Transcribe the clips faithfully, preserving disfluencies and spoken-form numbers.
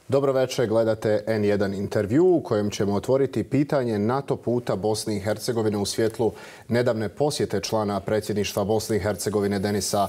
Dobro večer, gledate en jedan intervju u kojem ćemo otvoriti pitanje NATO puta Bosne i Hercegovine u svjetlu nedavne posjete člana predsjedništva Bosne i Hercegovine Denisa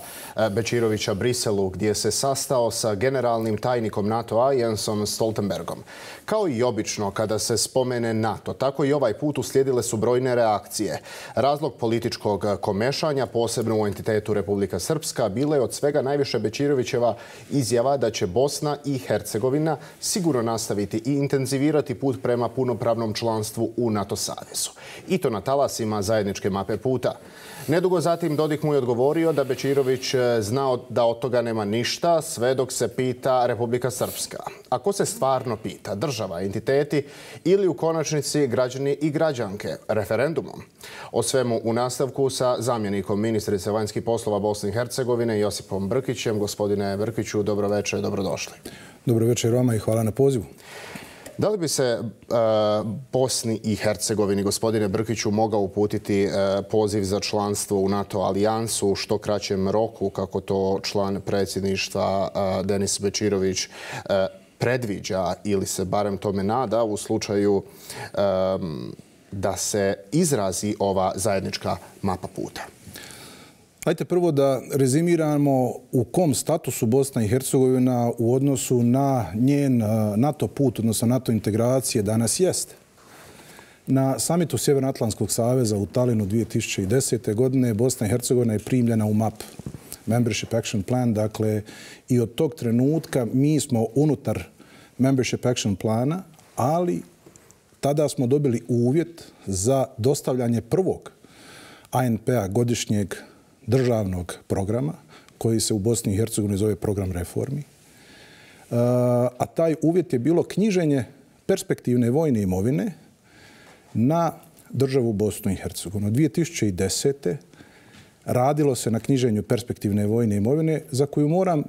Bećirovića Briselu, gdje se sastao sa generalnim tajnikom NATO-a Jensom Stoltenbergom. Kao i obično kada se spomene NATO, tako i ovaj put uslijedile su brojne reakcije. Razlog političkog komešanja, posebno u entitetu Republika Srpska, bila je od svega najviše Bećirovićeva izjava da će Bosna i Hercegovina sigurno nastaviti i intenzivirati put prema punopravnom članstvu u NATO savezu. I to na talasima zajedničke mape puta. Nedugo zatim Dodik mu je odgovorio da Bećirović znao da od toga nema ništa, sve dok se pita Republika Srpska. Ako se stvarno pita država, entiteti ili u konačnici građani i građanke referendumom? O svemu u nastavku sa zamjenikom ministrice vanjskih poslova Bosne i Hercegovine Josipom Brkićem. Gospodine Brkiću, dobro večer, dobrodošli. Dobro večer vama i hvala na pozivu. Da li bi se uh, Bosni i Hercegovini, gospodine Brkiću, mogao uputiti uh, poziv za članstvo u NATO alijansu u što kraćem roku, kako to član predsjedništva uh, Denis Bećirović uh, predviđa ili se barem tome nada u slučaju um, da se izrazi ova zajednička mapa puta? Hajde prvo da rezimiramo u kom statusu Bosna i Hercegovina u odnosu na njen NATO put, odnosno NATO integracije danas jeste. Na samitu Sjevernoatlantskog saveza u Talinu dvije tisuće desete. godine Bosna i Hercegovina je primljena u M A P, Membership Action Plan, dakle i od tog trenutka mi smo unutar Membership Action Plana, ali tada smo dobili uvjet za dostavljanje prvog A N P-a godišnjeg državnog programa, koji se u Bosni i Hercegovini zove program reformi. A taj uvjet je bilo knjiženje perspektivne vojne imovine na državu Bosnu i Hercegovinu. dvije tisuće desete. radilo se na knjiženju perspektivne vojne imovine, za koju moram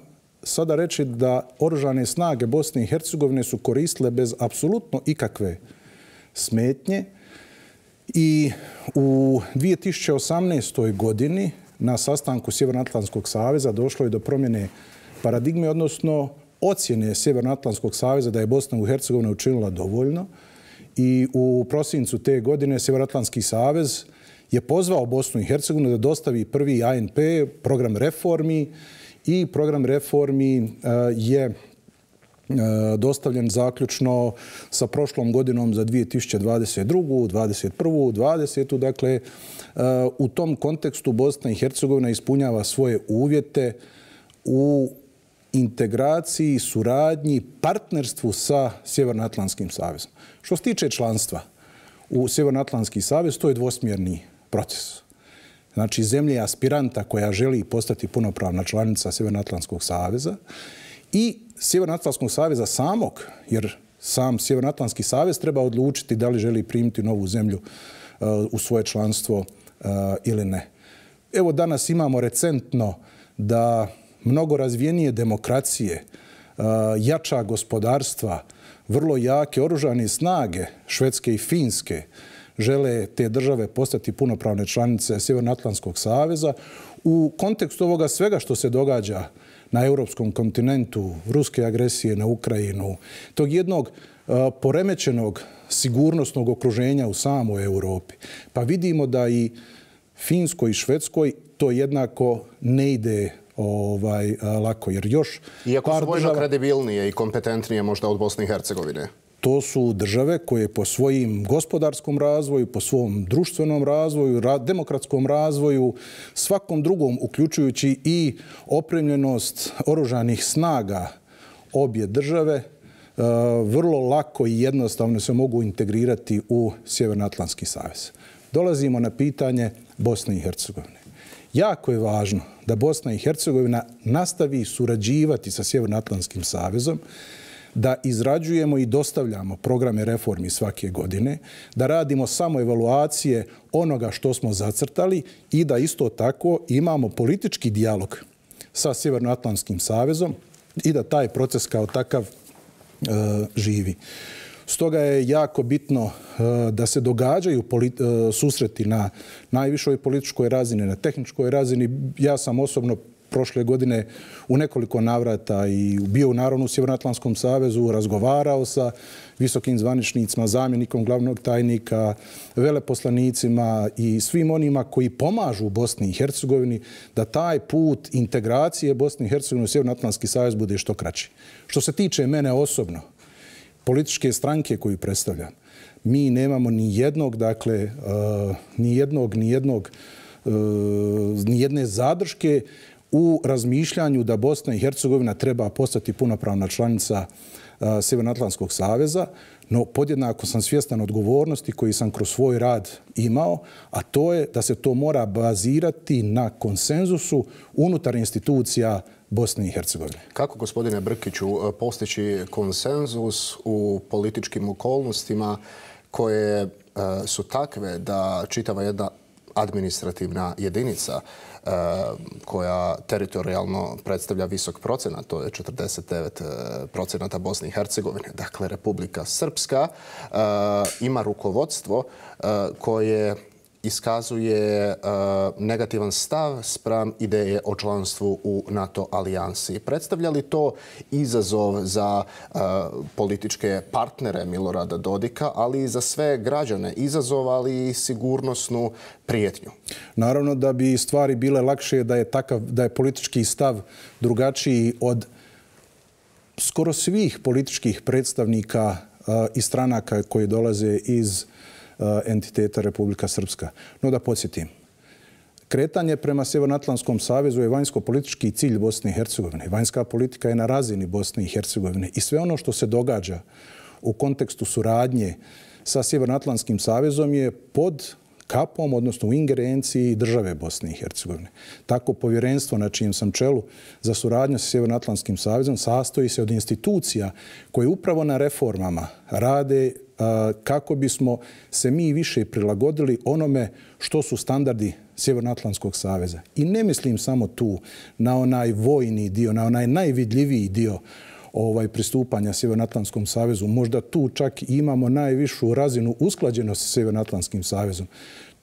sada reći da oružane snage Bosne i Hercegovine su koristile bez apsolutno ikakve smetnje. I u dvije tisuće osamnaestoj. godini na sastanku Sjevernoatlantskog saveza došlo je do promjene paradigme, odnosno ocjene Sjevernoatlantskog saveza da je Bosna i Hercegovina učinila dovoljno. I u prosincu te godine Sjevernoatlantski savez je pozvao Bosnu i Hercegovinu da dostavi prvi A N P, program reformi, i program reformi je dostavljen zaključno sa prošlom godinom za dvije tisuće dvadeset drugu. dvadeset prvu. dvadesetu. Dakle, u tom kontekstu Bosna i Hercegovina ispunjava svoje uvjete u integraciji, suradnji, partnerstvu sa Sjevernoatlantskim savezom. Što se tiče članstva u Sjevernoatlantski savez, to je dvosmjerni proces. Znači, zemlje aspiranta koja želi postati punopravna članica Sjevernoatlantskog saveza i Sjevernoatlantskog saveza samog, jer sam Sjevernoatlantski savez treba odlučiti da li želi primiti novu zemlju uh, u svoje članstvo uh, ili ne. Evo, danas imamo recentno da mnogo razvijenije demokracije, uh, jača gospodarstva, vrlo jake oružane snage Švedske i Finske žele te države postati punopravne članice Sjevernoatlantskog saveza. U kontekstu ovoga svega što se događa na europskom kontinentu, ruske agresije na Ukrajinu, tog jednog uh, poremećenog sigurnosnog okruženja u samoj Europi, pa vidimo da i Finskoj i Švedskoj to jednako ne ide ovaj, uh, lako. Jer još Iako su vojno država kredibilnije i kompetentnije možda od Bosne i Hercegovine. To su države koje po svojim gospodarskom razvoju, po svom društvenom razvoju, demokratskom razvoju, svakom drugom, uključujući i opremljenost oružanih snaga obje države, vrlo lako i jednostavno se mogu integrirati u Sjevernoatlantski savez. Dolazimo na pitanje Bosne i Hercegovine. Jako je važno da Bosna i Hercegovina nastavi surađivati sa Sjevernoatlantskim savezom, da izrađujemo i dostavljamo programe reformi svake godine, da radimo samo evaluacije onoga što smo zacrtali i da isto tako imamo politički dijalog sa Sjevernoatlantskim savezom i da taj proces kao takav e, živi. Stoga je jako bitno e, da se događaju polit, e, susreti na najvišoj političkoj razini, na tehničkoj razini. Ja sam osobno prošle godine u nekoliko navrata i bio u Narodnom Sjevernoatlantskom savezu, razgovarao sa visokim zvaničnicima, zamjenikom glavnog tajnika, veleposlanicima i svim onima koji pomažu u Bosni i Hercegovini da taj put integracije Bosne i Hercegovine u Sjevernoatlantski savez bude što kraći. Što se tiče mene osobno, političke stranke koju predstavljam, mi nemamo ni jednog, dakle, uh, ni jednog, ni jednog, uh, ni jedne zadrške u razmišljanju da Bosna i Hercegovina treba postati punopravna članica uh, Sjevernoatlantskog saveza, no podjednako sam svjestan odgovornosti koji sam kroz svoj rad imao, a to je da se to mora bazirati na konsenzusu unutar institucija Bosne i Hercegovine. Kako, gospodine Brkiću, postići konsenzus u političkim okolnostima koje uh, su takve da čitava jedna administrativna jedinica uh, koja teritorijalno predstavlja visok procenat, to je četrdeset devet procenata Bosne i Hercegovine, dakle Republika Srpska, uh, ima rukovodstvo uh, koje iskazuje uh, negativan stav spram ideje o članstvu u NATO alijansi. Predstavlja li to izazov za uh, političke partnere Milorada Dodika, ali i za sve građane? Izazov, ali i sigurnosnu prijetnju. Naravno da bi stvari bile lakše da je takav, da je politički stav drugačiji od skoro svih političkih predstavnika uh, i stranaka koji dolaze iz entiteta Republika Srpska. No da podsjetim, kretanje prema Sjevernoatlantskom savezu je vanjsko-politički cilj Bosne i Hercegovine. Vanjska politika je na razini Bosne i Hercegovine i sve ono što se događa u kontekstu suradnje sa Sjevernoatlantskim savezom je pod kapom, odnosno u ingerenciji države Bosne i Hercegovine. Tako povjerenstvo na čijem sam čelu za suradnju sa Sjevernoatlantskim savezom sastoji se od institucija koje upravo na reformama rade kako bismo se mi više prilagodili onome što su standardi Sjevernoatlantskog saveza. I ne mislim samo tu na onaj vojni dio, na onaj najvidljiviji dio ovaj, pristupanja Sjevernoatlantskom savezu. Možda tu čak imamo najvišu razinu usklađenosti sa Sjevernoatlantskim savezom.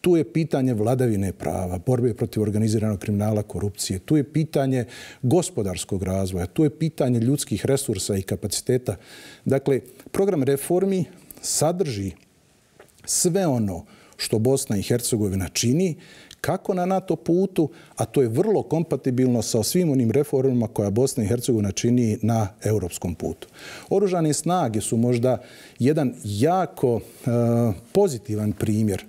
Tu je pitanje vladavine prava, borbe protiv organiziranog kriminala, korupcije. Tu je pitanje gospodarskog razvoja. Tu je pitanje ljudskih resursa i kapaciteta. Dakle, program reformi sadrži sve ono što Bosna i Hercegovina čini, kako na NATO putu, a to je vrlo kompatibilno sa svim onim reformama koja Bosna i Hercegovina čini na europskom putu. Oružane snage su možda jedan jako uh, pozitivan primjer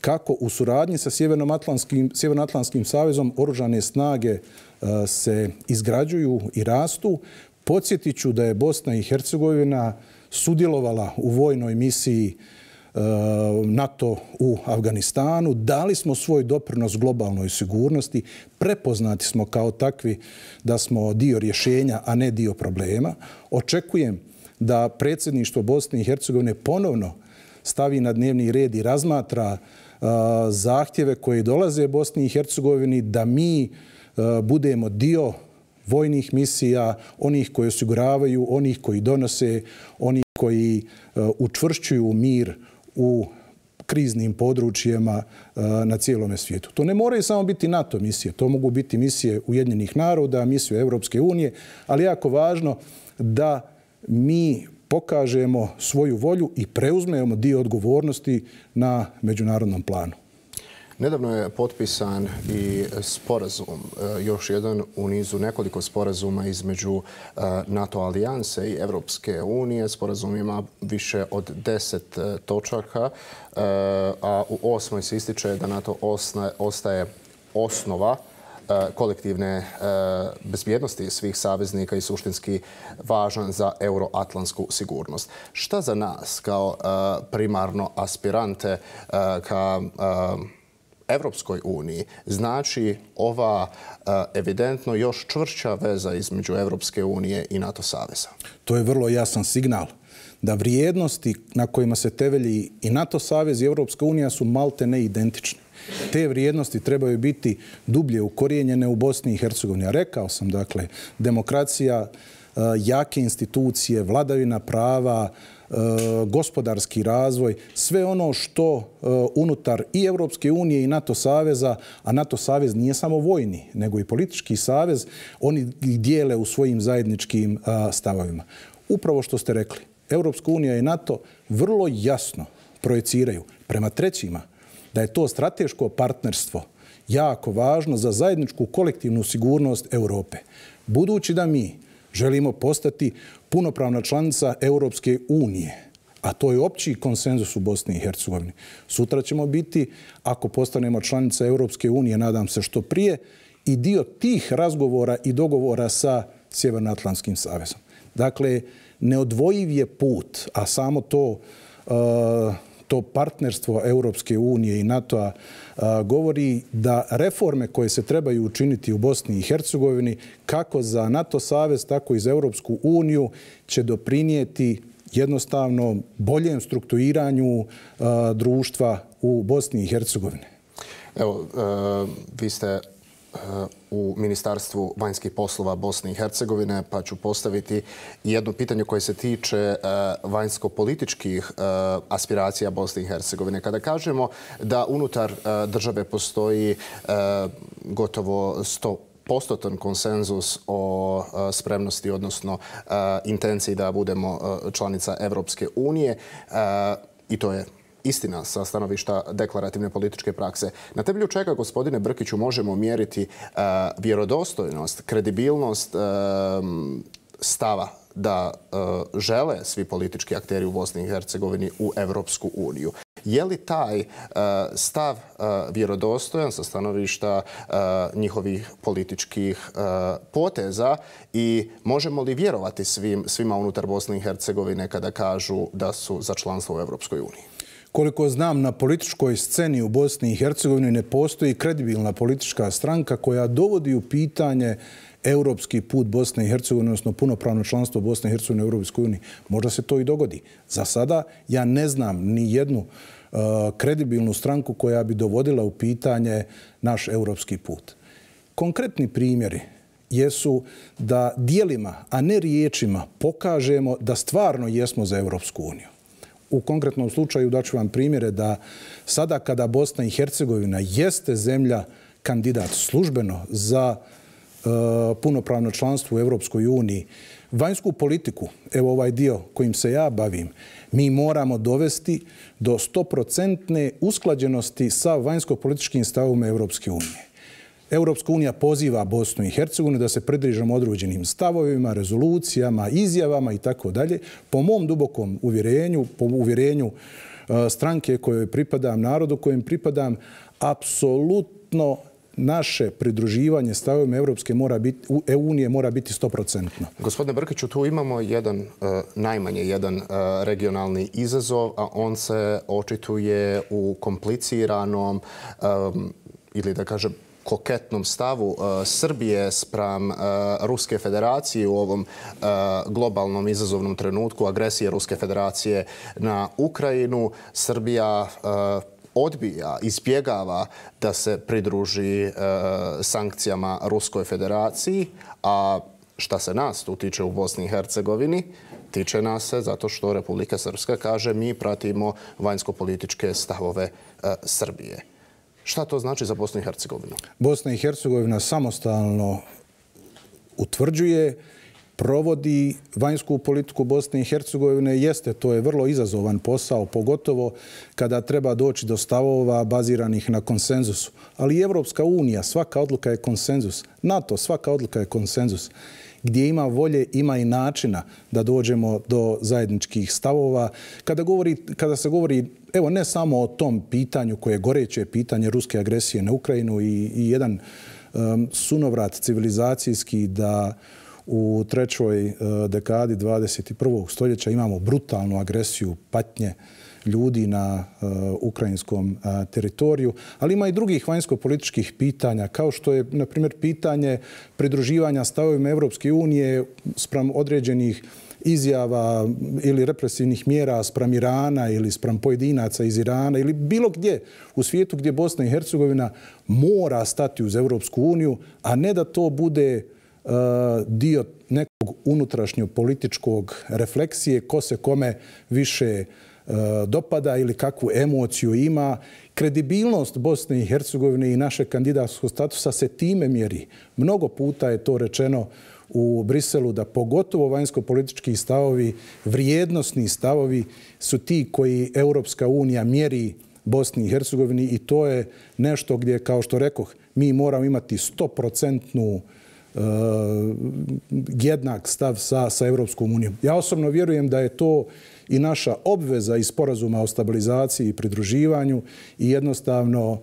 kako u suradnji sa Sjevernoatlantskim, Sjevernoatlantskim savezom oružane snage uh, se izgrađuju i rastu. Podsjetit ću da je Bosna i Hercegovina sudjelovala u vojnoj misiji uh, NATO u Afganistanu. Dali smo svoj doprinos globalnoj sigurnosti. Prepoznati smo kao takvi da smo dio rješenja, a ne dio problema. Očekujem da predsjedništvo Bosne i Hercegovine ponovno stavi na dnevni red i razmatra uh, zahtjeve koje dolaze Bosni i Hercegovini da mi uh, budemo dio vojnih misija, onih koji osiguravaju, onih koji donose, onih koji uh, učvršćuju mir u kriznim područjima uh, na cijelome svijetu. To ne moraju samo biti NATO misije, to mogu biti misije Ujedinjenih naroda, misije Europske unije, ali jako važno da mi pokažemo svoju volju i preuzmemo dio odgovornosti na međunarodnom planu. Nedavno je potpisan i sporazum, još jedan u nizu nekoliko sporazuma između NATO alijanse i Evropske unije. Sporazum ima više od deset točaka, a u osmoj se ističe da NATO ostaje osnova kolektivne bezbjednosti svih saveznika i suštinski važan za euroatlantsku sigurnost. Šta za nas kao primarno aspirante ka Evropskoj uniji znači ova evidentno još čvršća veza između Evropske unije i NATO saveza? To je vrlo jasan signal da vrijednosti na kojima se temelji i NATO savez i Evropska unija su malte ne identične. Te vrijednosti trebaju biti dublje ukorijenjene u Bosni i Hercegovini. Rekao sam, dakle, demokracija, jake institucije, vladavina prava, gospodarski razvoj, sve ono što unutar i Europske unije i NATO saveza, a NATO savez nije samo vojni, nego i politički savez, oni ih dijele u svojim zajedničkim stavovima. Upravo što ste rekli, Europska unija i NATO vrlo jasno projeciraju prema trećima da je to strateško partnerstvo jako važno za zajedničku kolektivnu sigurnost Europe. Budući da mi želimo postati punopravna članica Europske unije, a to je opći konsenzus u Bosni i Hercegovini. Sutra ćemo biti, ako postanemo članica Europske unije, nadam se što prije, i dio tih razgovora i dogovora sa Sjevernoatlantskim savezom. Dakle, neodvojiv je put, a samo to, to partnerstvo Europske unije i NATO-a govori da reforme koje se trebaju učiniti u Bosni i Hercegovini, kako za NATO savez, tako i za Europsku uniju, će doprinijeti jednostavno boljem strukturiranju društva u Bosni i Hercegovini. Evo, vi ste u Ministarstvu vanjskih poslova Bosne i Hercegovine, pa ću postaviti jedno pitanje koje se tiče vanjsko-političkih aspiracija Bosne i Hercegovine. Kada kažemo da unutar države postoji gotovo sto postotan konsenzus o spremnosti, odnosno intenciji da budemo članica Evropske unije, i to je istina sa stanovišta deklarativne političke prakse. Na temelju čega, gospodine Brkiću, možemo mjeriti vjerodostojnost, kredibilnost stava da žele svi politički akteri u Bosni i Hercegovini u Evropsku uniju? Je li taj stav vjerodostojan sa stanovišta njihovih političkih poteza i možemo li vjerovati svima unutar Bosne i Hercegovine kada kažu da su za članstvo u Evropskoj uniji? Koliko znam, na političkoj sceni u Bosni i Hercegovini ne postoji kredibilna politička stranka koja dovodi u pitanje europski put Bosne i Hercegovine, odnosno punopravno članstvo Bosne i Hercegovine u Europskoj uniji. Možda se to i dogodi. Za sada ja ne znam ni jednu uh, kredibilnu stranku koja bi dovodila u pitanje naš europski put. Konkretni primjeri jesu da dijelima, a ne riječima, pokažemo da stvarno jesmo za Europsku uniju. U konkretnom slučaju daću vam primjere da sada kada Bosna i Hercegovina jeste zemlja kandidat službeno za uh, punopravno članstvo u Europskoj uniji, vanjsku politiku, evo ovaj dio kojim se ja bavim, mi moramo dovesti do stoprocentne usklađenosti sa vanjsko-političkim stavom Europske unije. Europska unija poziva Bosnu i Hercegovinu da se pridržamo određenim stavovima, rezolucijama, izjavama i tako dalje. Po mom dubokom uvjerenju, po uvjerenju stranke kojoj pripadam, narodu kojem pripadam, apsolutno naše pridruživanje stavovima Europske mora biti, unije mora biti stoprocentno. Gospodine Brkiću, tu imamo jedan, najmanje jedan regionalni izazov, a on se očituje u kompliciranom ili da kažem koketnom stavu uh, Srbije spram uh, Ruske federacije u ovom uh, globalnom izazovnom trenutku agresije Ruske federacije na Ukrajinu. Srbija uh, odbija, izbjegava da se pridruži uh, sankcijama Ruskoj federaciji, a šta se nas tu tiče u Bosni i Hercegovini, tiče nas se zato što Republika Srpska kaže mi pratimo vanjsko-političke stavove uh, Srbije. Šta to znači za Bosnu i Hercegovinu? Bosna i Hercegovina samostalno utvrđuje, provodi vanjsku politiku Bosne i Hercegovine. Jeste, to je vrlo izazovan posao, pogotovo kada treba doći do stavova baziranih na konsenzusu. Ali i Evropska unija, svaka odluka je konsenzus. NATO, svaka odluka je konsenzus. Gdje ima volje, ima i načina da dođemo do zajedničkih stavova. Kada, govori, kada se govori, evo, ne samo o tom pitanju koje je goreće pitanje ruske agresije na Ukrajinu i, i jedan um, sunovrat civilizacijski da u trećoj uh, dekadi dvadeset i prvog stoljeća imamo brutalnu agresiju, patnje ljudi na uh, ukrajinskom uh, teritoriju, ali ima i drugih vanjsko-političkih pitanja, kao što je, na primjer, pitanje pridruživanja stavovima Evropske unije spram određenih izjava ili represivnih mjera spram Irana ili spram pojedinaca iz Irana ili bilo gdje u svijetu gdje Bosna i Hercegovina mora stati uz Evropsku uniju, a ne da to bude dio nekog unutrašnjo-političkog refleksije, ko se kome više dopada ili kakvu emociju ima. Kredibilnost Bosne i Hercegovine i našeg kandidatskog statusa se time mjeri. Mnogo puta je to rečeno u Briselu da pogotovo vanjsko-politički stavovi, vrijednosni stavovi su ti koji Europska unija mjeri Bosni i Hercegovini i to je nešto gdje, kao što rekoh, mi moramo imati sto procentnu uh, jednak stav sa, sa Europskom unijom. Ja osobno vjerujem da je to i naša obveza iz sporazuma o stabilizaciji i pridruživanju i jednostavno uh,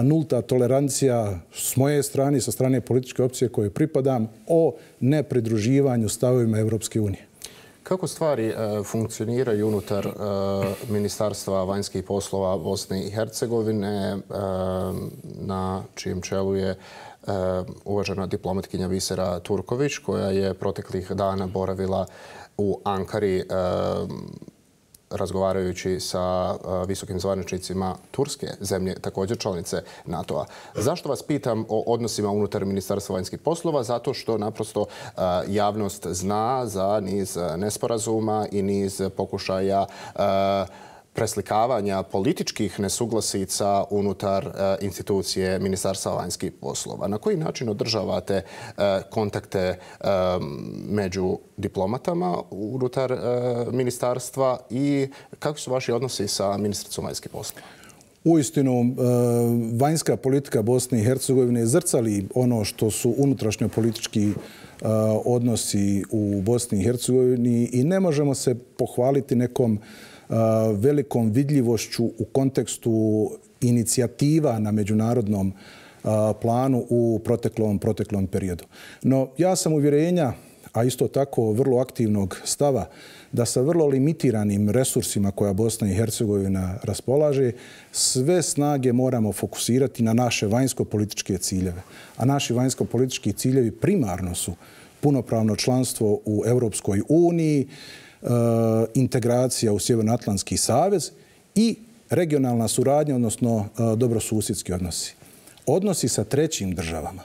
nulta tolerancija s moje strane i sa strane političke opcije koje pripadam o nepridruživanju stavovima Europske unije. Kako stvari e, funkcioniraju unutar e, Ministarstva vanjskih poslova Bosne i Hercegovine, e, na čijem čelu je e, uvažena diplomatkinja Visera Turković, koja je proteklih dana boravila u Ankari e, razgovarajući sa visokim zvaničnicima Turske, zemlje također članice NATO-a. Zašto vas pitam o odnosima unutar Ministarstva vanjskih poslova? Zato što naprosto javnost zna za niz nesporazuma i niz pokušaja preslikavanja političkih nesuglasica unutar institucije Ministarstva vanjskih poslova. Na koji način održavate kontakte među diplomatama unutar ministarstva i kakvi su vaši odnosi sa ministricom vanjskih poslova? Uistinu, vanjska politika Bosne i Hercegovine zrcali ono što su unutrašnjo politički odnosi u Bosni i Hercegovini i ne možemo se pohvaliti nekom velikom vidljivošću u kontekstu inicijativa na međunarodnom planu u proteklom, proteklom periodu. No, ja sam uvjerenja, a isto tako vrlo aktivnog stava, da sa vrlo limitiranim resursima koja Bosna i Hercegovina raspolaže, sve snage moramo fokusirati na naše vanjsko-političke ciljeve. A naši vanjsko-politički ciljevi primarno su punopravno članstvo u Europskoj uniji, integracija u Sjevernoatlantski savez i regionalna suradnja, odnosno dobrosusjedski odnosi. Odnosi sa trećim državama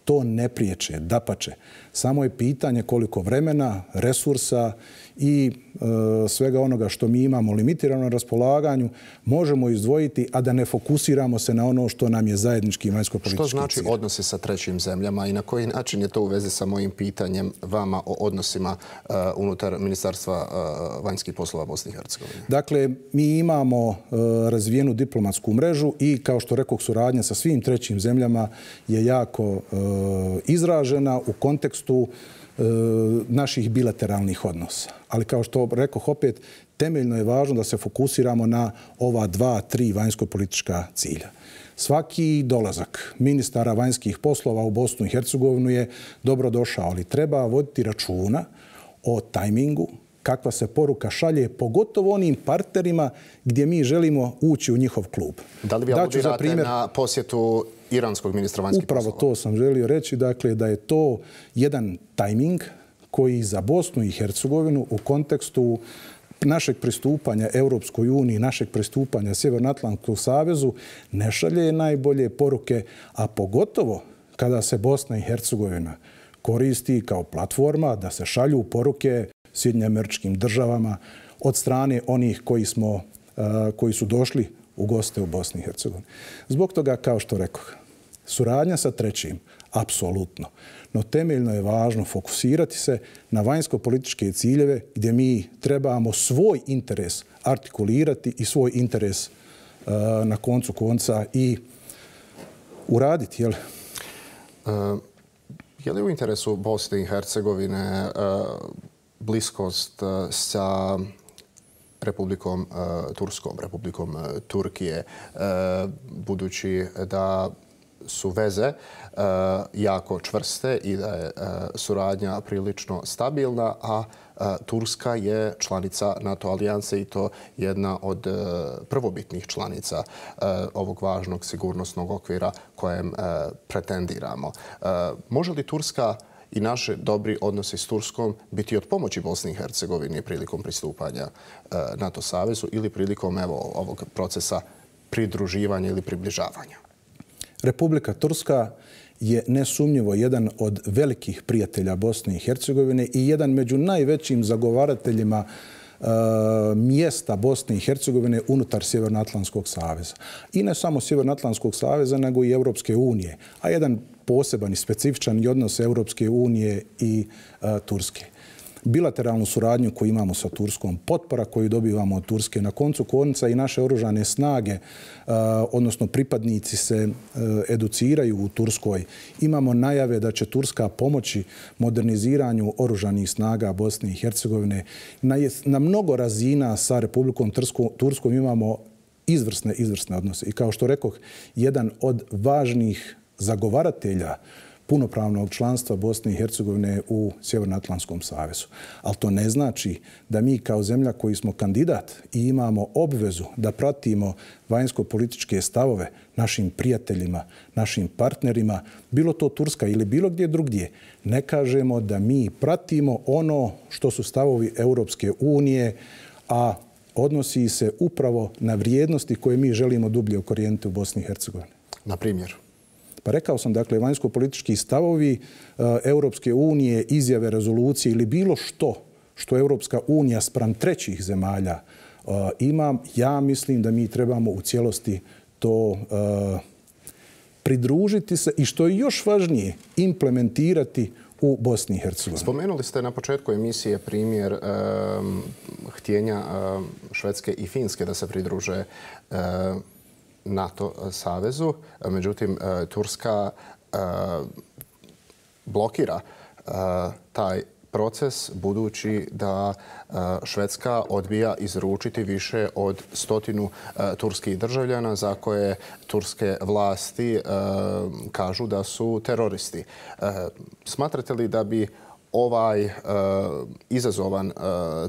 to ne priječe, dapače. Samo je pitanje koliko vremena, resursa i e, svega onoga što mi imamo limitirano na raspolaganju možemo izdvojiti, a da ne fokusiramo se na ono što nam je zajednički vanjsko-politički cilj. Što znači odnosi sa trećim zemljama i na koji način je to u vezi sa mojim pitanjem vama o odnosima uh, unutar Ministarstva uh, vanjskih poslova Bosne i Hercegovine? Dakle, mi imamo uh, razvijenu diplomatsku mrežu i, kao što rekoh, suradnja sa svim trećim zemljama je jako uh, izražena u kontekstu naših bilateralnih odnosa. Ali kao što rekoh opet, temeljno je važno da se fokusiramo na ova dva, tri vanjsko-politička cilja. Svaki dolazak ministara vanjskih poslova u Bosnu i Hercegovinu je dobro došao, ali treba voditi računa o tajmingu, kakva se poruka šalje, pogotovo onim partnerima gdje mi želimo ući u njihov klub. Da li vi aludirate primjer na posjetu iranskog ministra vanjskih poslova? Upravo to sam želio reći, dakle, da je to jedan tajming koji za Bosnu i Hercegovinu u kontekstu našeg pristupanja Europskoj uniji, našeg pristupanja Sjevernoatlantskom savezu ne šalje najbolje poruke, a pogotovo kada se Bosna i Hercegovina koristi kao platforma da se šalju poruke Sjedinjenim Američkim Državama od strane onih koji, smo, koji su došli u goste u Bosni i Hercegovini. Zbog toga, kao što rekoh, suradnja sa trećim, apsolutno. No temeljno je važno fokusirati se na vanjsko-političke ciljeve gdje mi trebamo svoj interes artikulirati i svoj interes uh, na koncu konca i uraditi. Jel? Uh, je li u interesu Bosne i Hercegovine uh, bliskost uh, sa Republikom uh, Turskom, Republikom uh, Turkije, uh, budući da su veze uh, jako čvrste i da je uh, suradnja prilično stabilna, a uh, Turska je članica NATO alijanse i to jedna od uh, prvobitnih članica uh, ovog važnog sigurnosnog okvira kojem uh, pretendiramo. Uh, može li Turska i naše dobri odnosi s Turskom biti od pomoći Bosni i Hercegovini prilikom pristupanja uh, NATO savezu ili prilikom evo, ovog procesa pridruživanja ili približavanja? Republika Turska je nesumnjivo jedan od velikih prijatelja Bosne i Hercegovine i jedan među najvećim zagovarateljima uh, mjesta Bosne i Hercegovine unutar Sjevernoatlantskog saveza. I ne samo Sjevernoatlantskog saveza, nego i Europske unije, a jedan poseban i specifičan odnos Europske unije i uh, Turske. Bilateralnu suradnju koju imamo sa Turskom, potpora koju dobivamo od Turske, na koncu konca i naše oružane snage, odnosno pripadnici se educiraju u Turskoj. Imamo najave da će Turska pomoći moderniziranju oružanih snaga Bosne i Hercegovine. Na, na mnogo razina sa Republikom Turskom imamo izvrsne, izvrsne odnose. I kao što rekoh, jedan od važnih zagovaratelja punopravnog članstva Bosne i Hercegovine u Sjevernoatlantskom savezu. Ali to ne znači da mi kao zemlja koji smo kandidat i imamo obvezu da pratimo vanjsko-političke stavove našim prijateljima, našim partnerima, bilo to Turska ili bilo gdje drugdje, ne kažemo da mi pratimo ono što su stavovi Europske unije, a odnosi se upravo na vrijednosti koje mi želimo dublje ukorijeniti u Bosni i Hercegovini. Na primjer? Pa rekao sam, dakle, vanjsko-politički stavovi uh, Europske unije, izjave, rezolucije ili bilo što što Europska unija spram trećih zemalja uh, ima, ja mislim da mi trebamo u cijelosti to uh, pridružiti se i što je još važnije, implementirati u Bosni i Hercegovini. Spomenuli ste na početku emisije primjer um, htjenja um, Švedske i Finske da se pridruže um, NATO savezu. Međutim, Turska blokira taj proces budući da Švedska odbija izručiti više od stotinu turskih državljana za koje turske vlasti kažu da su teroristi. Smatrate li da bi ovaj uh, izazovan uh,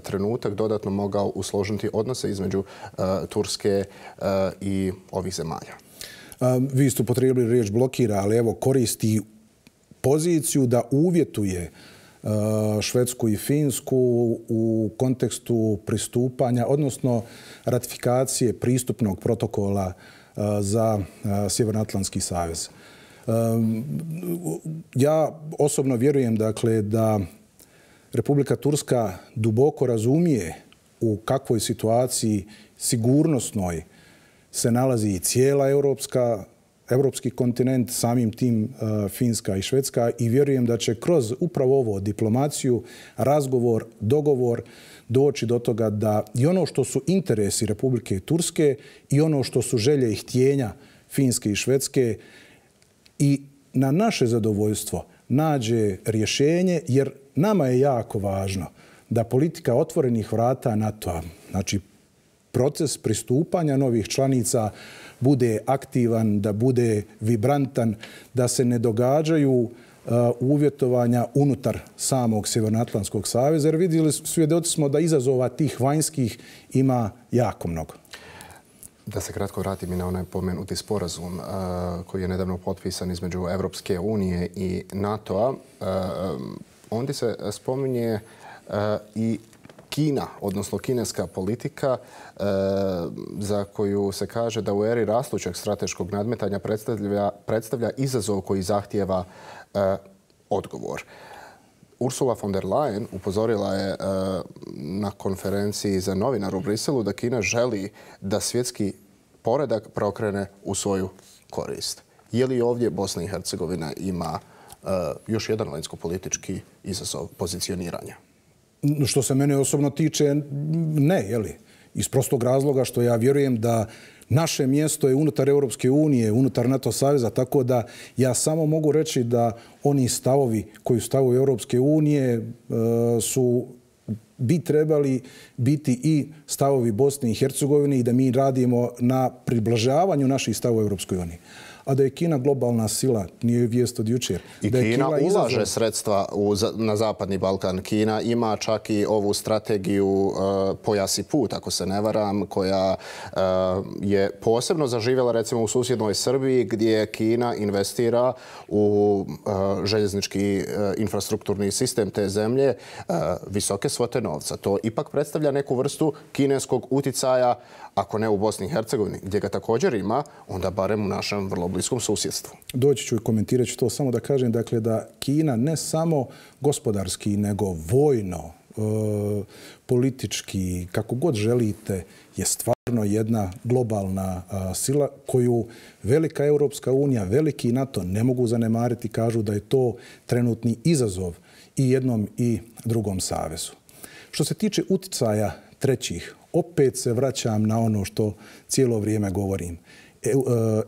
trenutak dodatno mogao usložiti odnose između uh, Turske uh, i ovih zemalja? Um, vi ste upotrijebili riječ blokira, ali evo koristi poziciju da uvjetuje uh, Švedsku i Finsku u kontekstu pristupanja, odnosno ratifikacije pristupnog protokola uh, za uh, Sjevernoatlantski savez. Ja osobno vjerujem, dakle, da Republika Turska duboko razumije u kakvoj situaciji sigurnosnoj se nalazi i cijela europska, europski kontinent, samim tim uh, Finska i Švedska, i vjerujem da će kroz upravo ovo diplomaciju, razgovor, dogovor doći do toga da i ono što su interesi Republike Turske i ono što su želje i htjenja Finske i Švedske i na naše zadovoljstvo nađe rješenje, jer nama je jako važno da politika otvorenih vrata NATO-a, znači proces pristupanja novih članica, bude aktivan, da bude vibrantan, da se ne događaju uh, uvjetovanja unutar samog Sjevernoatlantskog saveza, jer vidjeli, svjedoci smo da izazova tih vanjskih ima jako mnogo. Da se kratko vratim i na onaj pomenuti sporazum uh, koji je nedavno potpisan između Europske unije i NATO-a. Uh, ondje se spominje uh, i Kina, odnosno kineska politika uh, za koju se kaže da u eri rastućeg strateškog nadmetanja predstavlja, predstavlja izazov koji zahtijeva uh, odgovor. Ursula von der Leyen upozorila je uh, na konferenciji za novinar u Briselu da Kina želi da svjetski poredak preokrene u svoju korist. Je li ovdje Bosna i Hercegovina ima uh, još jedan vanjsko-politički izazov pozicioniranja? Što se mene osobno tiče, ne, je li? Iz prostog razloga što ja vjerujem da naše mjesto je unutar Europske unije, unutar NATO saveza, tako da ja samo mogu reći da oni stavovi koji su stavovi Europske unije su bi trebali biti i stavovi Bosne i Hercegovine i da mi radimo na približavanju naših stavova Europskoj uniji. A da je Kina globalna sila, nije vijest od jučer. I da Kina ulaže izazov... sredstva u, na Zapadni Balkan. Kina ima čak i ovu strategiju uh, pojas i put, ako se ne varam, koja uh, je posebno zaživjela recimo u susjednoj Srbiji, gdje Kina investira u uh, željeznički uh, infrastrukturni sistem te zemlje uh, visoke svote novca. To ipak predstavlja neku vrstu kineskog uticaja, ako ne u Bosni i Hercegovini, gdje ga također ima, onda barem u našem vrlo bliskom susjedstvu. Doći ću i komentirat ću to, samo da kažem dakle, da Kina ne samo gospodarski, nego vojno, e, politički, kako god želite, je stvarno jedna globalna a, sila koju velika Europska unija, veliki NATO ne mogu zanemariti, kažu da je to trenutni izazov i jednom i drugom savezu. Što se tiče uticaja trećih, opet se vraćam na ono što cijelo vrijeme govorim.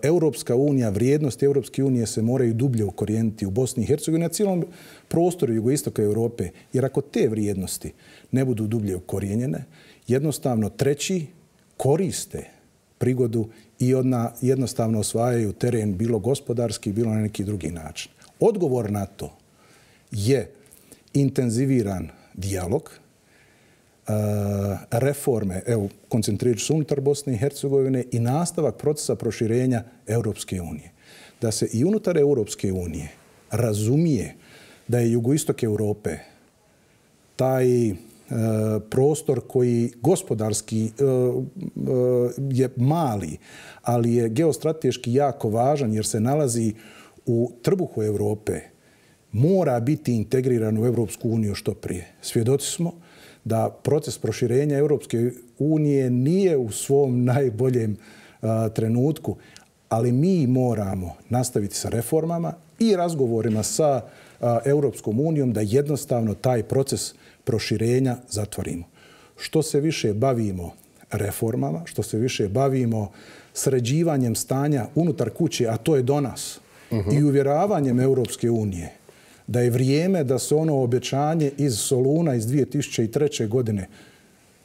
Europska unija, vrijednosti Europske unije se moraju dublje ukorijeniti u Bosni i Hercegovini, na cijelom prostoru jugoistoka Europe. Jer ako te vrijednosti ne budu dublje ukorijenjene, jednostavno treći koriste prigodu i odna jednostavno osvajaju teren bilo gospodarski, bilo na neki drugi način. Odgovor na to je intenziviran dijalog, reforme, evo, koncentrirat ću se unutar Bosne i Hercegovine i nastavak procesa proširenja Europske unije. Da se i unutar Europske unije razumije da je jugoistok Europe taj e, prostor koji gospodarski e, e, je mali, ali je geostrateški jako važan jer se nalazi u trbuhu Europe, mora biti integriran u Europsku uniju što prije. Svjedoci smo da proces proširenja Europske unije nije u svom najboljem a, trenutku, ali mi moramo nastaviti sa reformama i razgovorima sa a, Europskom unijom da jednostavno taj proces proširenja zatvorimo. Što se više bavimo reformama, što se više bavimo sređivanjem stanja unutar kuće, a to je do nas, uh-huh. i uvjeravanjem Europske unije, da je vrijeme da se ono obećanje iz Soluna iz dvije tisuće treće. godine,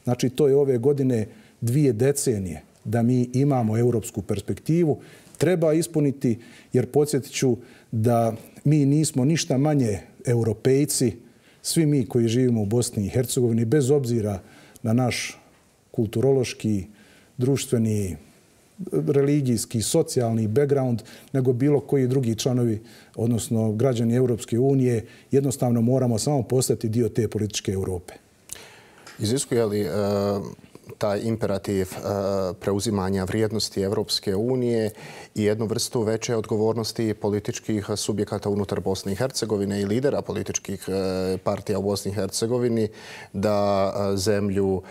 znači to je ove godine dvije decenije, da mi imamo europsku perspektivu, treba ispuniti, jer podsjetit ću da mi nismo ništa manje europejci, svi mi koji živimo u Bosni i Hercegovini, bez obzira na naš kulturološki, društveni, religijski, socijalni background, nego bilo koji drugi članovi, odnosno građani Europske unije, jednostavno moramo samo postati dio te političke Europe. Iziskuje li uh, taj imperativ uh, preuzimanja vrijednosti Europske unije i jednu vrstu veće odgovornosti političkih subjekata unutar Bosne i Hercegovine i lidera političkih uh, partija u Bosni i Hercegovini da uh, zemlju uh,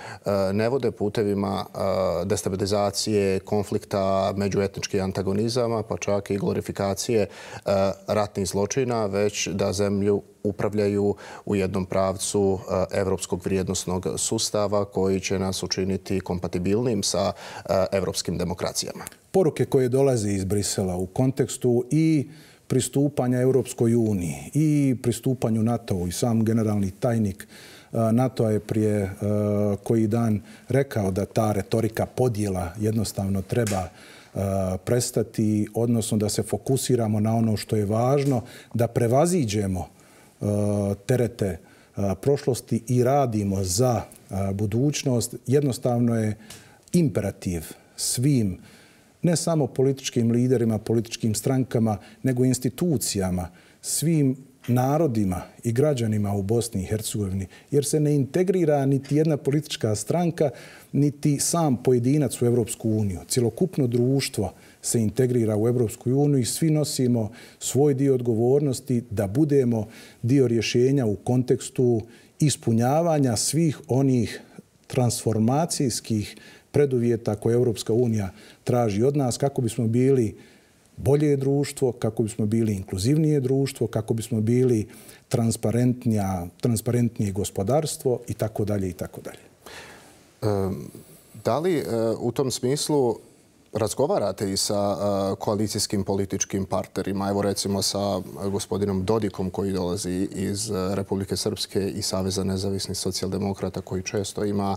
ne vode putevima uh, destabilizacije, konflikta, međuetničkih antagonizama, pa čak i glorifikacije uh, ratnih zločina, već da zemlju upravljaju u jednom pravcu evropskog vrijednosnog sustava koji će nas učiniti kompatibilnim sa evropskim demokracijama. Poruke koje dolaze iz Brisela u kontekstu i pristupanja Europskoj uniji i pristupanju NATO-u i sam generalni tajnik NATO je prije koji dan rekao da ta retorika podjela jednostavno treba prestati, odnosno da se fokusiramo na ono što je važno, da prevaziđemo terete prošlosti i radimo za budućnost. Jednostavno je imperativ svim, ne samo političkim liderima, političkim strankama, nego institucijama, svim narodima i građanima u Bosni i Hercegovini, jer se ne integrira niti jedna politička stranka, niti sam pojedinac u Europsku uniju. Cjelokupno društvo se integrira u Europsku uniju i svi nosimo svoj dio odgovornosti da budemo dio rješenja u kontekstu ispunjavanja svih onih transformacijskih preduvjeta koje Europska unija traži od nas kako bismo bili bolje društvo, kako bismo bili inkluzivnije društvo, kako bismo bili transparentnije gospodarstvo i tako dalje i tako dalje. Da li u tom smislu razgovarate i sa koalicijskim političkim partnerima, evo recimo sa gospodinom Dodikom koji dolazi iz Republike Srpske i Saveza nezavisnih socijaldemokrata koji često ima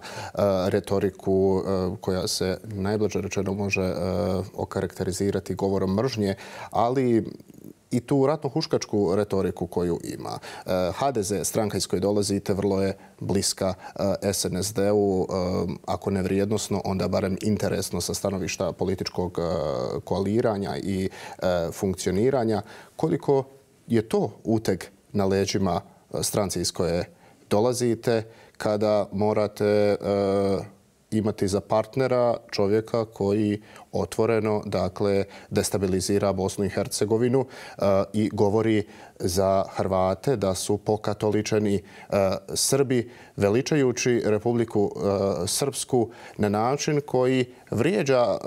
retoriku koja se najblaže rečeno može okarakterizirati govorom mržnje, ali i tu ratno-huškačku retoriku koju ima. ha de ze, stranka iz koje dolazite, vrlo je bliska es en es de-u, ako ne vrijednosno, onda barem interesno sa stanovišta političkog koaliranja i funkcioniranja. Koliko je to uteg na leđima stranci iz koje dolazite kada morate imati za partnera čovjeka koji otvoreno, dakle, destabilizira Bosnu i Hercegovinu uh, i govori za Hrvate da su pokatoličeni uh, Srbi, veličajući Republiku uh, Srpsku na način koji vrijeđa uh,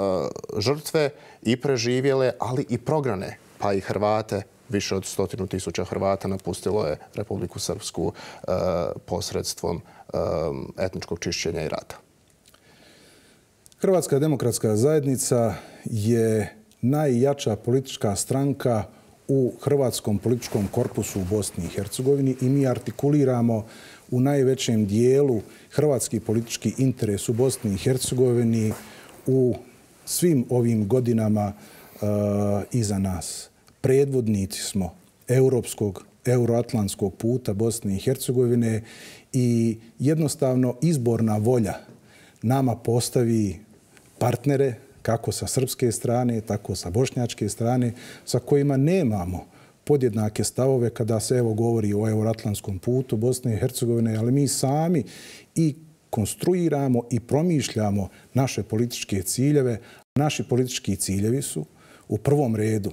žrtve i preživjele, ali i prognane, pa i Hrvate. Više od stotinu tisuća Hrvata napustilo je Republiku Srpsku uh, posredstvom um, etničkog čišćenja i rata. Hrvatska demokratska zajednica je najjača politička stranka u hrvatskom političkom korpusu u Bosni i Hercegovini i mi artikuliramo u najvećem dijelu hrvatski politički interes u Bosni i Hercegovini u svim ovim godinama uh, iza nas. Predvodnici smo europskog, euroatlantskog puta Bosne i Hercegovine i jednostavno izborna volja nama postavi partnere kako sa srpske strane, tako sa bošnjačke strane, sa kojima nemamo podjednake stavove kada se evo govori o euroatlantskom putu Bosne i Hercegovine, ali mi sami i konstruiramo i promišljamo naše političke ciljeve. Naši politički ciljevi su u prvom redu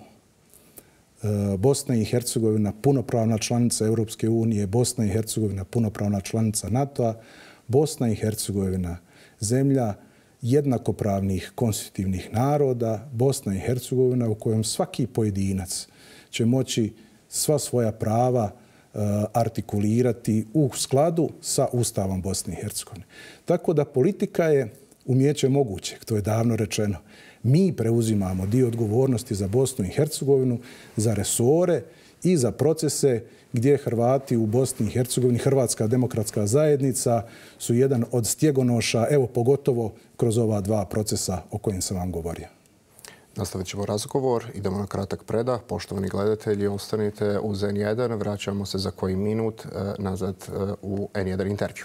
Bosna i Hercegovina punopravna članica Europske unije, Bosna i Hercegovina punopravna članica NATO-a, Bosna i Hercegovina zemlja jednakopravnih konstitutivnih naroda, Bosna i Hercegovina u kojem svaki pojedinac će moći sva svoja prava uh, artikulirati u skladu sa Ustavom Bosne i Hercegovine. Tako da politika je umijeće mogućeg, to je davno rečeno. Mi preuzimamo dio odgovornosti za Bosnu i Hercegovinu, za resore i za procese gdje Hrvati u Bosni i Hercegovini, Hrvatska demokratska zajednica su jedan od stjegonoša, evo pogotovo kroz ova dva procesa o kojim sam vam govorio. Nastavit ćemo razgovor. Idemo na kratak predah. Poštovani gledatelji, ostanite uz en jedan. Vraćamo se za koji minut nazad u en jedan intervju.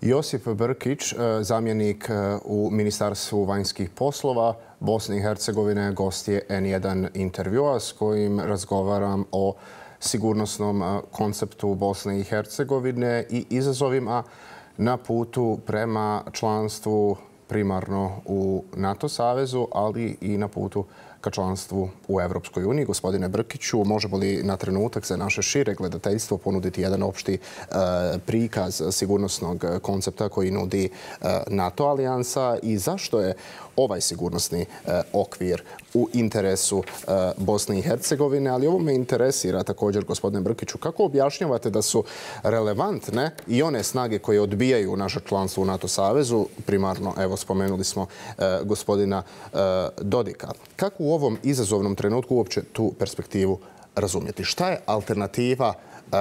Josip Brkić, zamjenik u Ministarstvu vanjskih poslova Bosne i Hercegovine, gost je en jedan intervjua s kojim razgovaram o sigurnosnom konceptu Bosne i Hercegovine i izazovima na putu prema članstvu primarno u NATO savezu, ali i na putu ka članstvu u Evropskoj uniji. Gospodine Brkiću, možemo li na trenutak za naše šire gledateljstvo ponuditi jedan opšti uh, prikaz sigurnosnog koncepta koji nudi uh, NATO alijansa i zašto je ovaj sigurnosni uh, okvir u interesu uh, Bosne i Hercegovine, ali ovo me interesira također, gospodine Brkiću, kako objašnjavate da su relevantne i one snage koje odbijaju naše članstvo u NATO savezu, primarno, evo, spomenuli smo uh, gospodina uh, Dodika. Kako u ovom izazovnom trenutku uopće tu perspektivu razumjeti? Šta je alternativa uh,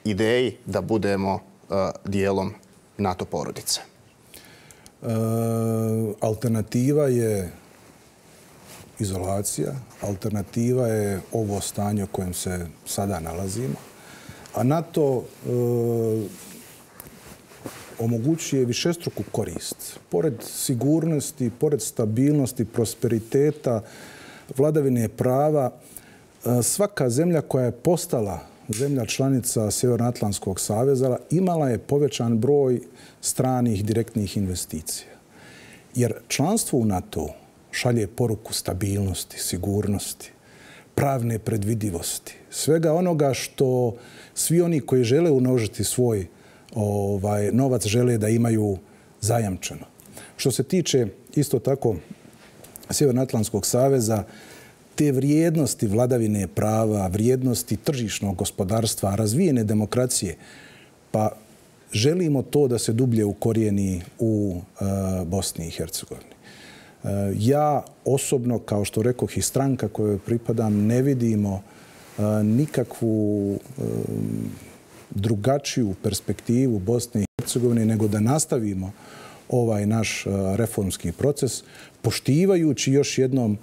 ideji da budemo uh, dijelom NATO porodice? E, alternativa je izolacija, alternativa je ovo stanje u kojem se sada nalazimo, a NATO e, omogućuje višestruku korist. Pored sigurnosti, pored stabilnosti, prosperiteta, vladavine prava, svaka zemlja koja je postala zemlja članica Sjevernoatlantskog saveza imala je povećan broj stranih direktnih investicija. Jer članstvo u NATO šalje poruku stabilnosti, sigurnosti, pravne predvidivosti, svega onoga što svi oni koji žele unožiti svoj ovaj, novac žele da imaju zajamčeno. Što se tiče isto tako Sjevernoatlantskog saveza, te vrijednosti vladavine prava, vrijednosti tržišnog gospodarstva, razvijene demokracije, pa želimo to da se dublje ukorijeni u uh, Bosni i Hercegovini. Ja osobno, kao što rekoh i stranka kojoj pripadam, ne vidimo nikakvu drugačiju perspektivu Bosne i Hercegovine nego da nastavimo ovaj naš reformski proces, poštivajući, još jednom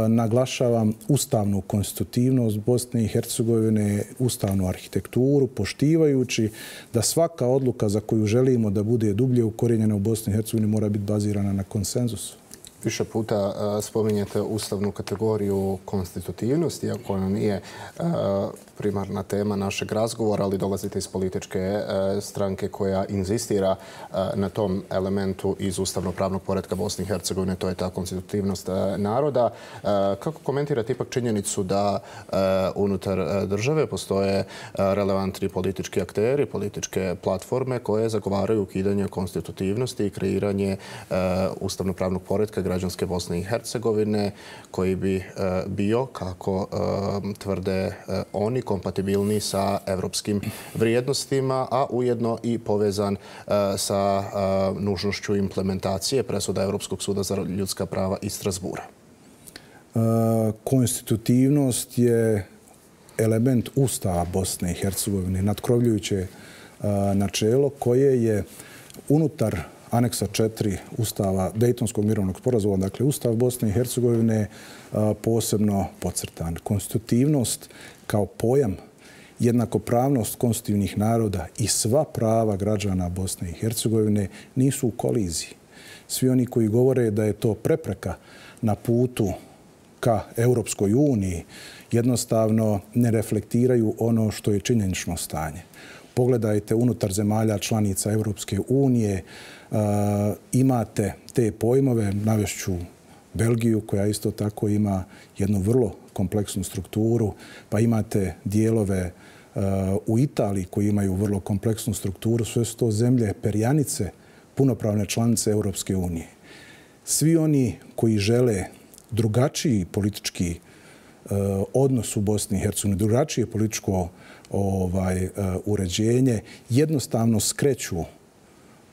naglašavam, ustavnu konstitutivnost Bosne i Hercegovine, ustavnu arhitekturu, poštivajući da svaka odluka za koju želimo da bude dublje ukorijenjena u Bosni i Hercegovini mora biti bazirana na konsenzusu. Više puta spominjete ustavnu kategoriju konstitutivnosti, iako ona nije primarna tema našeg razgovora, ali dolazite iz političke stranke koja inzistira na tom elementu iz ustavno-pravnog poretka Bosne i Hercegovine, to je ta konstitutivnost naroda. Kako komentirate ipak činjenicu da unutar države postoje relevantni politički akteri, političke platforme koje zagovaraju ukidanje konstitutivnosti i kreiranje ustavno-pravnog poretka građanske Bosne i Hercegovine, koji bi bio, kako tvrde oni, kompatibilni sa evropskim vrijednostima, a ujedno i povezan sa nužnošću implementacije presuda Evropskog suda za ljudska prava iz Strasbura? Konstitutivnost je element Ustava Bosne i Hercegovine, nadkrovljujuće načelo koje je unutar aneksa četiri Ustava Dejtonskog mirovnog sporazuma, dakle Ustav Bosne i Hercegovine, posebno podcrtan. Konstitutivnost kao pojam, jednakopravnost konstitutivnih naroda i sva prava građana Bosne i Hercegovine nisu u koliziji. Svi oni koji govore da je to prepreka na putu ka Europskoj uniji jednostavno ne reflektiraju ono što je činjenično stanje. Pogledajte unutar zemalja članica Europske unije, imate te pojmove, navešću Belgiju koja isto tako ima jednu vrlo kompleksnu strukturu, pa imate dijelove u Italiji koji imaju vrlo kompleksnu strukturu, sve su to zemlje perjanice, punopravne članice Europske unije. Svi oni koji žele drugačiji politički odnos u Bosni i Hercegovini, drugačije političko ovaj, uređenje, jednostavno skreću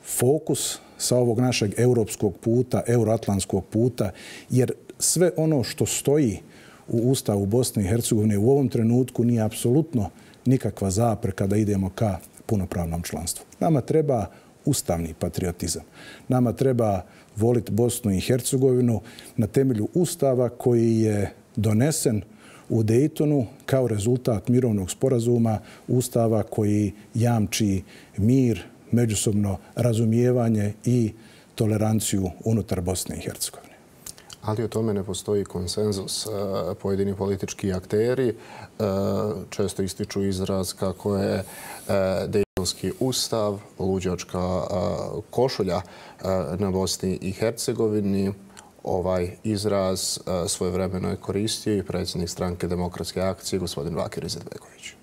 fokus sa ovog našeg europskog puta, euroatlantskog puta, jer sve ono što stoji u Ustavu Bosne i Hercegovine u ovom trenutku nije apsolutno nikakva zapreka da idemo ka punopravnom članstvu. Nama treba ustavni patriotizam. Nama treba voliti Bosnu i Hercegovinu na temelju Ustava koji je donesen u Dejtonu kao rezultat mirovnog sporazuma, Ustava koji jamči mir, međusobno razumijevanje i toleranciju unutar Bosne i Hercegovine. Ali o tome ne postoji konsenzus. Pojedini politički akteri često ističu izraz kako je Dejtonski ustav luđačka košulja na Bosni i Hercegovini. Ovaj izraz svojevremeno je koristio i predsjednik stranke Demokratske akcije, gospodin Bakir Izetbegović.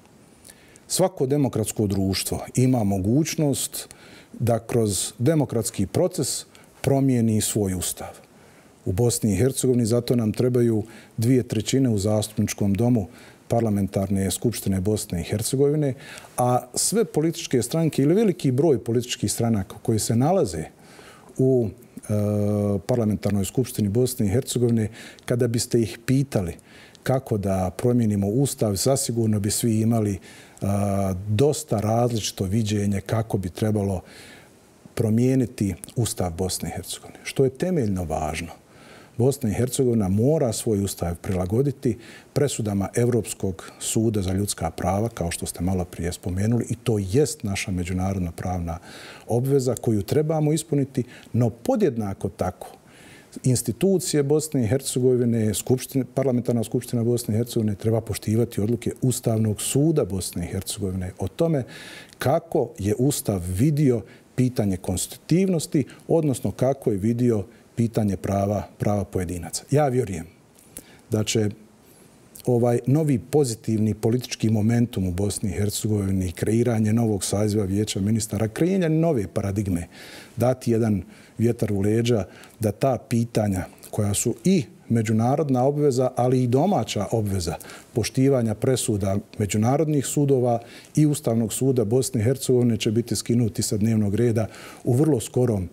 Svako demokratsko društvo ima mogućnost da kroz demokratski proces promijeni svoj ustav. U Bosni i Hercegovini zato nam trebaju dvije trećine u zastupničkom domu parlamentarne skupštine Bosne i Hercegovine, a sve političke stranke ili veliki broj političkih stranaka koji se nalaze u parlamentarnoj skupštini Bosne i Hercegovine, kada biste ih pitali kako da promijenimo ustav, zasigurno bi svi imali dosta različito viđenje kako bi trebalo promijeniti ustav Bosne i Hercegovine. Što je temeljno važno. Bosna i Hercegovina mora svoj ustav prilagoditi presudama Evropskog suda za ljudska prava, kao što ste malo prije spomenuli, i to jest naša međunarodna pravna obveza koju trebamo ispuniti, no podjednako tako institucije Bosne i Hercegovine, parlamentarna skupština Bosne i Hercegovine treba poštivati odluke Ustavnog suda Bosne i Hercegovine o tome kako je Ustav vidio pitanje konstitutivnosti, odnosno kako je vidio pitanje prava, prava pojedinaca. Ja vjerujem da će ovaj novi pozitivni politički momentum u Bosni i Hercegovini, kreiranje novog saziva Vijeća ministara, kreiranje nove paradigme, dati jedan vjetar u leđa da ta pitanja koja su i međunarodna obveza, ali i domaća obveza poštivanja presuda međunarodnih sudova i Ustavnog suda Bosne i Hercegovine će biti skinuti sa dnevnog reda u vrlo skorom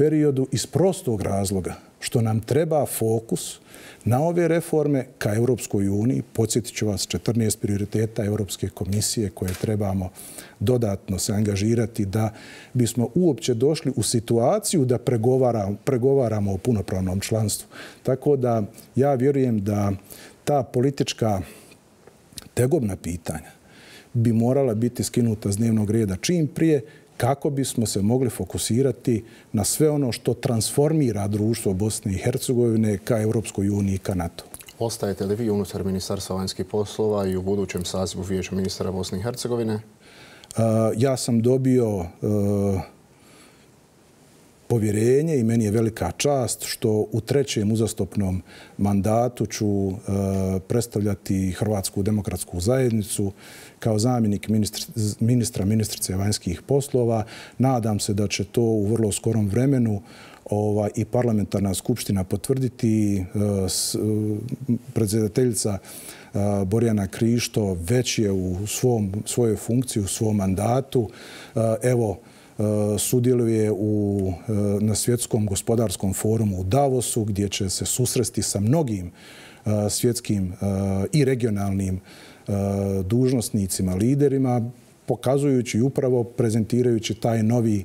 periodu iz prostog razloga što nam treba fokus na ove reforme ka Europskoj uniji. Podsjetit ću vas, četrnaest prioriteta Europske komisije koje trebamo dodatno se angažirati da bismo uopće došli u situaciju da pregovaramo, pregovaramo o punopravnom članstvu. Tako da ja vjerujem da ta politička tegobna pitanja bi morala biti skinuta s dnevnog reda čim prije kako bismo se mogli fokusirati na sve ono što transformira društvo Bosne i Hercegovine ka Europskoj uniji i ka NATO. Ostajete li vi unutar Ministarstva vanjskih poslova i u budućem sazivu Vijeća ministara Bosne i Hercegovine? Ja sam dobio povjerenje i meni je velika čast što u trećem uzastopnom mandatu ću predstavljati Hrvatsku demokratsku zajednicu kao zamjenik ministra, ministrice vanjskih poslova. Nadam se da će to u vrlo skorom vremenu i parlamentarna skupština potvrditi. Predsjedateljica Borjana Krišto već je u svom, svojoj funkciji, u svom mandatu. Evo, sudjeluje u, na svjetskom gospodarskom forumu u Davosu gdje će se susresti sa mnogim svjetskim i regionalnim dužnosnicima, liderima, pokazujući upravo, prezentirajući taj novi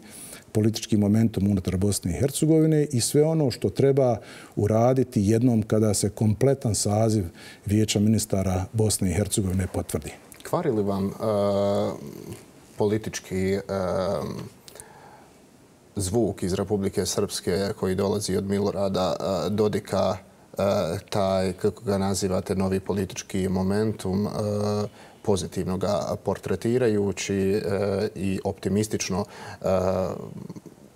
politički momentum unutar Bosne i Hercegovine i sve ono što treba uraditi jednom kada se kompletan saziv Vijeća ministara Bosne i Hercegovine potvrdi. Kvari li vam uh, politički uh, zvuk iz Republike Srpske koji dolazi od Milorada uh, Dodika, uh, taj, kako ga nazivate, novi politički momentum, uh, pozitivno ga portretirajući uh, i optimistično uh,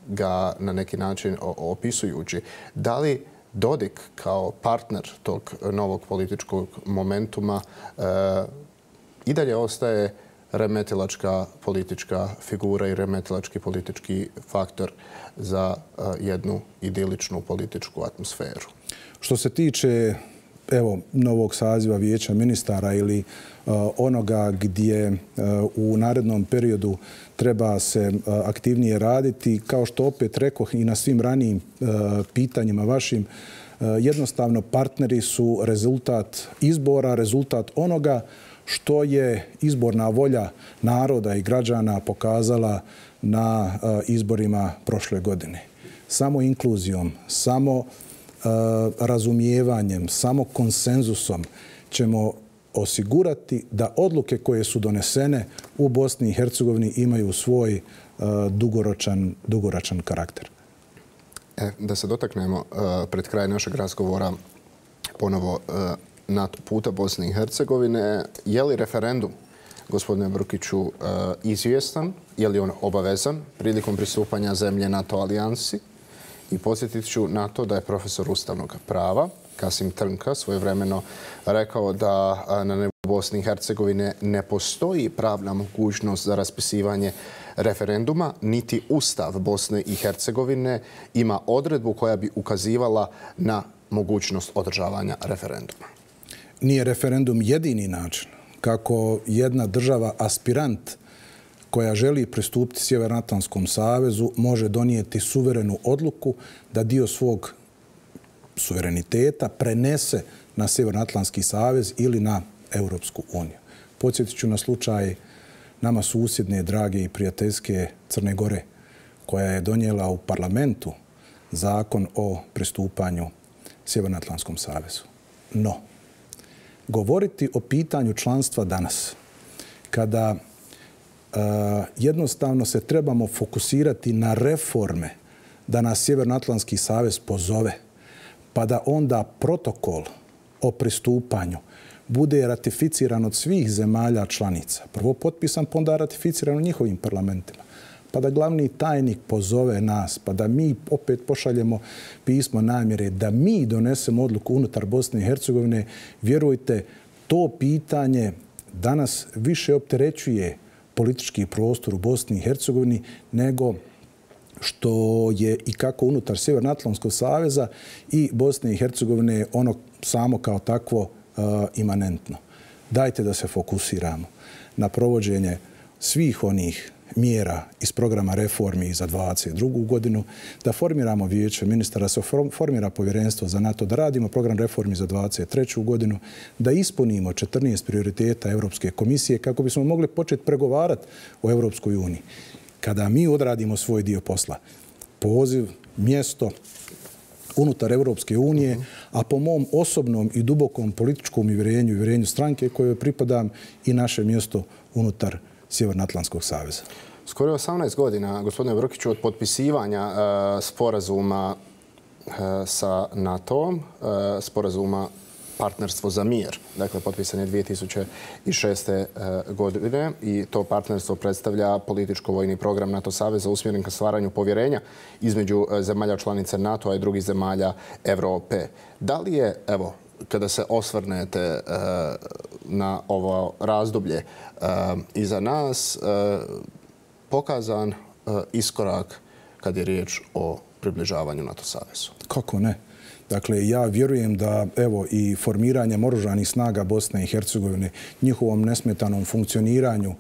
ga na neki način opisujući. Da li Dodik kao partner tog novog političkog momentuma uh, i dalje ostaje remetilačka politička figura i remetilački politički faktor za uh, jednu idiličnu političku atmosferu? Što se tiče evo, novog saziva Vijeća ministara ili uh, onoga gdje uh, u narednom periodu treba se uh, aktivnije raditi, kao što opet rekoh i na svim ranijim uh, pitanjima vašim, uh, jednostavno partneri su rezultat izbora, rezultat onoga što je izborna volja naroda i građana pokazala na uh, izborima prošle godine. Samo inkluzijom, samo razumijevanjem, samo konsenzusom ćemo osigurati da odluke koje su donesene u Bosni i Hercegovini imaju svoj dugoročan, dugoročan karakter. E, da se dotaknemo pred kraj našeg razgovora ponovo NATO puta Bosne i Hercegovine. Je li referendum, gospodine Brkiću, izvjestan? Je li on obavezan prilikom pristupanja zemlje NATO alijansi? I podsjetit ću na to da je profesor ustavnog prava Kasim Trnka svojevremeno rekao da na nebu Bosne i Hercegovine ne postoji pravna mogućnost za raspisivanje referenduma, niti Ustav Bosne i Hercegovine ima odredbu koja bi ukazivala na mogućnost održavanja referenduma. Nije referendum jedini način kako jedna država aspirant koja želi pristupiti Sjevernoatlantskom savezu može donijeti suverenu odluku da dio svog suvereniteta prenese na Sjevernoatlantski savez ili na Europsku uniju. Podsjetit ću na slučaj nama susjedne, drage i prijateljske Crne Gore, koja je donijela u parlamentu zakon o pristupanju Sjevernoatlantskom savezu. No, govoriti o pitanju članstva danas, kada Uh, jednostavno se trebamo fokusirati na reforme da nas Sjevernoatlantski savez pozove, pa da onda protokol o pristupanju bude ratificiran od svih zemalja članica. Prvo potpisan, pa onda ratificiran u njihovim parlamentima. Pa da glavni tajnik pozove nas, pa da mi opet pošaljemo pismo namjere, da mi donesemo odluku unutar Bosne i Hercegovine. Vjerujte, to pitanje danas više opterećuje politički prostor u Bosni i Hercegovini nego što je i kako unutar Sjevernoatlantskog saveza i Bosne i Hercegovine ono samo kao takvo uh, imanentno. Dajte da se fokusiramo na provođenje svih onih mjera iz programa reformi za dvadeset drugu godinu, da formiramo vijeće ministara, da se formira povjerenstvo za NATO, da radimo program reformi za dvadeset treću godinu, da ispunimo četrnaest prioriteta Europske komisije kako bismo mogli početi pregovarati o Europskoj uniji. Kada mi odradimo svoj dio posla, poziv, mjesto unutar Europske unije, a po mom osobnom i dubokom političkom uvjerenju i uvjerenju stranke kojoj pripadam i naše mjesto unutar Sjevernoatlantskog saveza. Skoro osamnaest godina, gospodine Brkiću, od potpisivanja uh, sporazuma uh, sa NATO-om, uh, sporazuma partnerstvo za mir. Dakle, potpisan je dvije tisuće šeste. godine i to partnerstvo predstavlja političko-vojni program NATO saveza usmjeren ka stvaranju povjerenja između zemalja članica NATO-a i drugih zemalja Europe. Da li je, evo, kada se osvrnete uh, na ovo razdoblje uh, iza nas, uh, pokazan uh, iskorak kad je riječ o približavanju NATO savezu? Kako ne? Dakle, ja vjerujem da evo i formiranjem oružanih snaga Bosne i Hercegovine, njihovom nesmetanom funkcioniranju,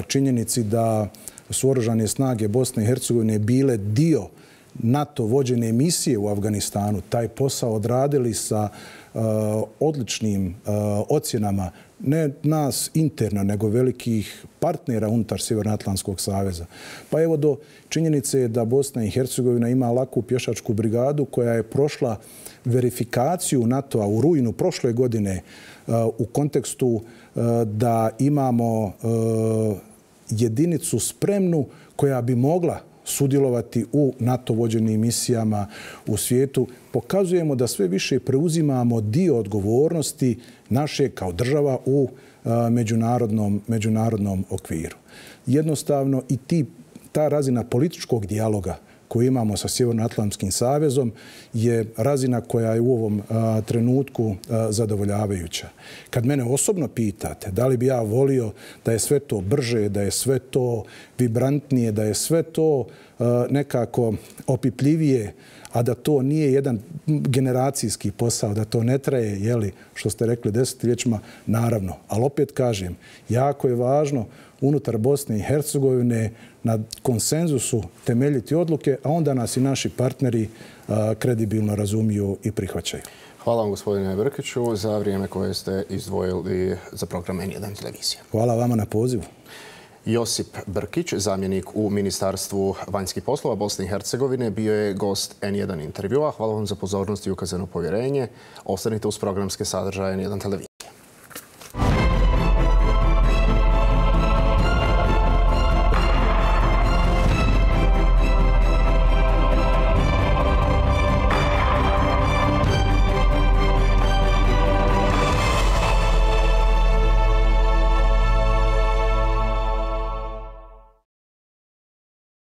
činjenici da su oružane snage Bosne i Hercegovine bile dio NATO vođene misije u Afganistanu, taj posao odradili sa odličnim ocjenama ne nas interno, nego velikih partnera unutar Sjevernoatlantskog saveza. Pa evo do činjenice da Bosna i Hercegovina ima laku pješačku brigadu koja je prošla verifikaciju NATO-a u rujnu prošle godine u kontekstu da imamo jedinicu spremnu koja bi mogla sudjelovati u NATO vođenim misijama u svijetu. Pokazujemo da sve više preuzimamo dio odgovornosti naše kao država u međunarodnom, međunarodnom okviru. Jednostavno i ti, ta razina političkog dijaloga koju imamo sa Sjevernoatlantskim savezom je razina koja je u ovom a, trenutku a, zadovoljavajuća. Kad mene osobno pitate da li bi ja volio da je sve to brže, da je sve to vibrantnije, da je sve to a, nekako opipljivije, a da to nije jedan generacijski posao, da to ne traje, jeli, što ste rekli, desetljećima, naravno. Ali opet kažem, jako je važno unutar Bosne i Hercegovine na konsenzusu temeljiti odluke, a onda nas i naši partneri a, kredibilno razumiju i prihvaćaju. Hvala vam, gospodine Brkiću, za vrijeme koje ste izdvojili za program N jedan televizije. Hvala vama na pozivu. Josip Brkić, zamjenik u Ministarstvu vanjskih poslova Bosne i Hercegovine, bio je gost N jedan intervjua. Hvala vam za pozornost i ukazano povjerenje. Ostanite uz programske sadržaje N jedan televizije.